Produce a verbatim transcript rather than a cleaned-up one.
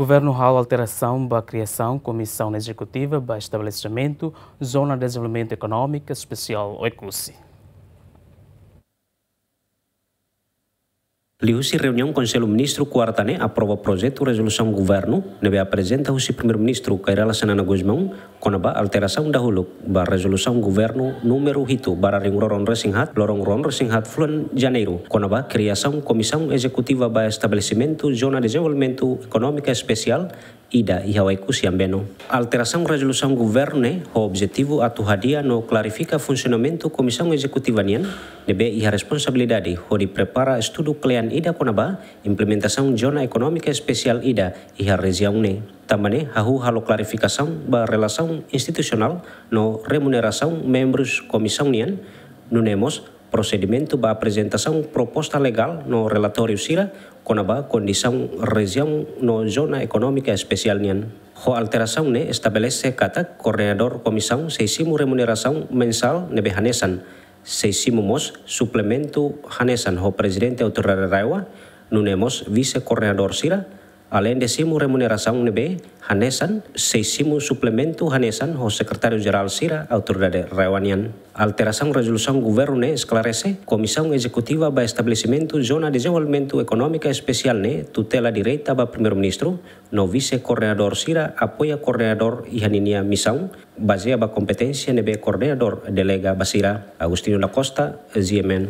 Governu halo alterasaun ba kriasaun Komisaun Ezekutiva ba Estabelesimentu Zona Dezenvolvimentu Ekonómiku Espesiál Oekusi. Liuhusi reuniaun Konsellu Ministru kuarta ne'e aprova projetu rezolusaun governu ne'ebé aprezenta husi Primeiru-Ministru Kay Rala Xanana Gusmão kona-ba alterasaun dahuluk ba rezolusaun governu númeru hitu barra rihun rua ruanulu-resin-haat, loron rua ruanulu-resin-haat fulan Janeiru, kona-ba kriasaun Komisaun Ezekutiva ba Estabelesimentu Zona Dezenvolvimentu Ekonómiku Espesiál ida iha Oekusi Ambeno. Alterasaun rezolusaun governu ne'e ho objetivu atu hadi'a no klarifika funsionamentu Komisaun Ezekutiva nian ne'ebé iha responsabilidade hodi prepara estudu kle'an ida kona-ba implementasaun Zona Ekonómika Espesiál ida iha rejiaun ne'e. Tanba ne'e hahú halo klarifikasaun ba relasaun institusionál no remunerasaun membrus komisaun nian, nune'e mós prosedimentu ba aprezentasaun proposta legál no relatóriu sira kona-ba kondisaun rejiaun no Zona Ekonómika Espesiál nian. Ho alterasaun ne'e estabelese katak koordenadór komisaun sei simu remunerasaun mensál ne'ebé hanesan, sei simu mós suplementu hanesan ho Prezidente Autoridade RAEOA, nune'e mós vise-koordenadór sira, aleinde simu remunerasaun ne'ebé hanesan, sei simu suplementu hanesan ho Sekretáriu-Jerál sira Autoridade RAEOA nian. Alterasaun rezolusaun governu ne'e esklarese, Komisaun Ezekutiva ba Estabelesimentu Zona Dezenvolvimentu Ekonómika Espesiál ne'e tutela direta ba Primeiru-Ministru, no vise-koordenadór sira apoia koordenadór iha ninia misaun, bazeia ba kompeténsia ne'ebé koordenadór delega ba sira. Agostinho da Costa, G M N.